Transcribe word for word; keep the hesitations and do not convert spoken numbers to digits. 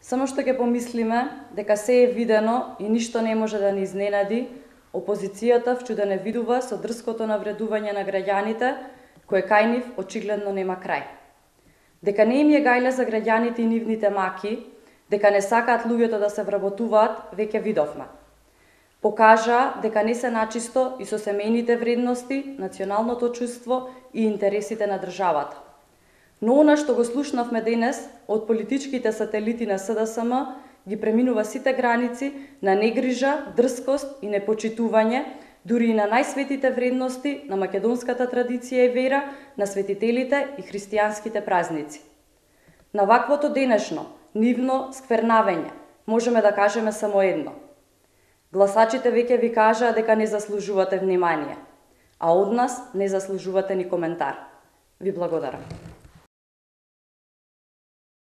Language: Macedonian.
Само што ќе помислиме дека се е видено и ништо не може да ни изненади, опозицијата вчудено видува со дрското навредување на граѓаните, кое кај нив очигледно нема крај. Дека не им е гајле за граѓаните и нивните маки, дека не сакаат луѓето да се вработуваат, веќе видовме. Покажа дека не се начисто и со семејните вредности, националното чувство и интересите на државата. Но она што го слушнавме денес од политичките сателити на С Д С М ги преминува сите граници на негрижа, дрскост и непочитување, дури и на најсветите вредности на македонската традиција и вера, на светителите и христијанските празници. На ваквото денешно, нивно сквернавење, можеме да кажеме само едно. Гласачите веќе ви кажаа дека не заслужувате внимание, а од нас не заслужувате ни коментар. Ви благодарам.